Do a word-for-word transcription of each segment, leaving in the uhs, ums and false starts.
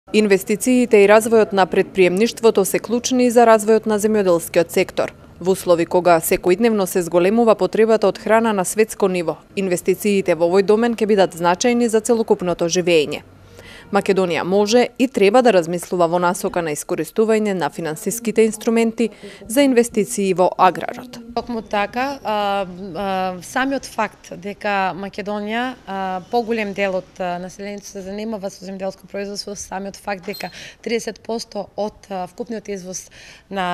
Инвестициите и развојот на претприемништвото се клучни за развојот на земјоделскиот сектор. Во услови кога секојдневно се зголемува потребата од храна на светско ниво, инвестициите во овој домен ќе бидат значајни за целокупното живење. Македонија може и треба да размислува во насока на искористување на финансиските инструменти за инвестиции во аграрот. Токму така, а, а, самиот факт дека Македонија а, поголем дел од населението се занимава со земјоделско производство, самиот факт дека триесет проценти од а, вкупниот извоз на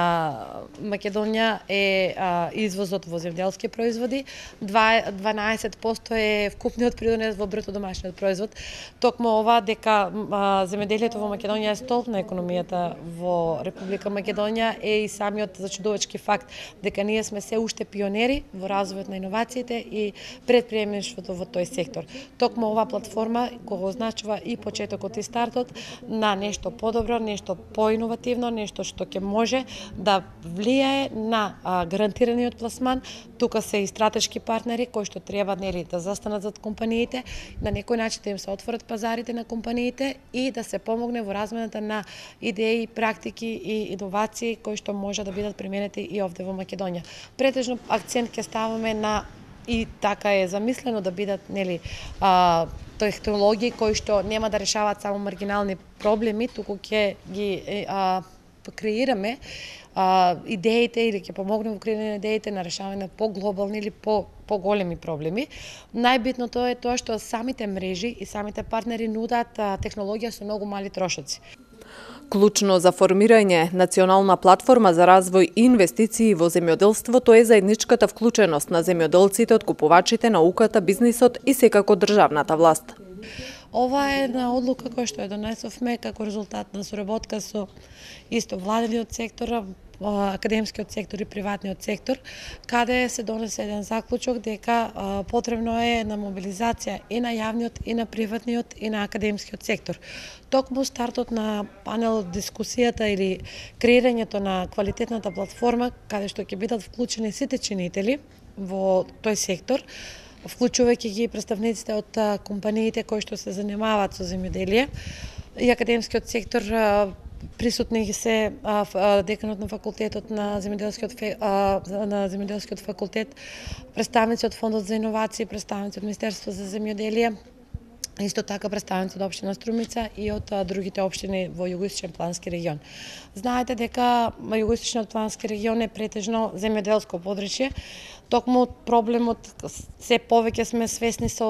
Македонија е а, извозот во земјоделски производи, дванаесет проценти е вкупниот придонес во бруто домашниот производ. Токму ова дека земјоделието во Македонија е столб на економијата во Република Македонија е и самиот зачудувачки факт дека ние сме се уште пионери во развојот на иновациите и претприемништвото во тој сектор. Токму оваа платформа го означува и почетокот и стартот на нешто подобро, нешто поиновативно, нешто што ќе може да влијае на а, гарантираниот пласман. Тука се и стратешки партнери кои што треба нели да застанат зад компаниите, на некој начин да им се отворат пазарите на компаниите и да се помогне во размената на идеи, практики и иновации кои што може да бидат применети и овде во Македонија. Претежно акцент ќе ставаме на и така е замислено да бидат нели а, технологии кои што нема да решаваат само маргинални проблеми, туку ќе ги а, креираме а, идеите или ќе помогнеме во креирање на идеите на решавање на поглобални или по поголеми проблеми. Најбитното е тоа што самите мрежи и самите партнери нудат а, технологија со многу мали трошоци. Клучно за формирање национална платформа за развој и инвестиции во земјоделството е заедничката вклученост на земјоделците, откупувачите, науката, бизнисот и секако државната власт. Ова е една одлука која што ја донесовме како резултат на соработка со исто владениот сектор, академскиот сектор и приватниот сектор, каде се донесе еден заклучок дека а, потребно е на мобилизација и на јавниот, и на приватниот, и на академскиот сектор. Токму стартот на панел дискусијата или креирањето на квалитетната платформа, каде што ќе бидат вклучени сите чинители во тој сектор, вклучувајќи ги представниците од компаниите кои што се занимаваат со земјоделие и академскиот сектор. Присутни се а, деканот на факултетот на земјоделскиот на земјоделскиот факултет, представници од фондот за иновации, представници од Министерството за земјоделие, исто така представници од општина Струмица и од а, другите општини во југоисточен плански регион. Знаете дека југоисточниот плански регион е претежно земјоделско подрачје. Токму проблемот се повеќе сме свесни со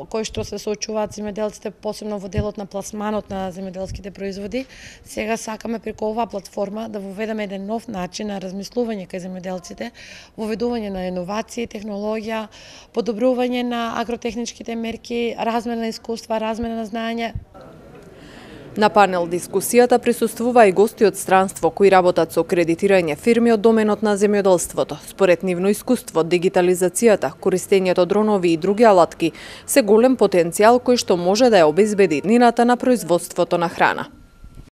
кој што се соочуваат земјоделците, посебно во делот на пласманот на земјоделските производи. Сега сакаме преку оваа платформа да воведеме еден нов начин на размислување кај земјоделците, воведување на иновации, технологија, подобрување на агротехничките мерки, размена на искуства, размена на знаење. На панел дискусијата присуствува и гости од странство кои работат со кредитирање фирми од доменот на земјоделството. Според нивно искуство, дигитализацијата, користењето дронови и други алатки се голем потенцијал кој што може да ја обезбеди иднината на производството на храна.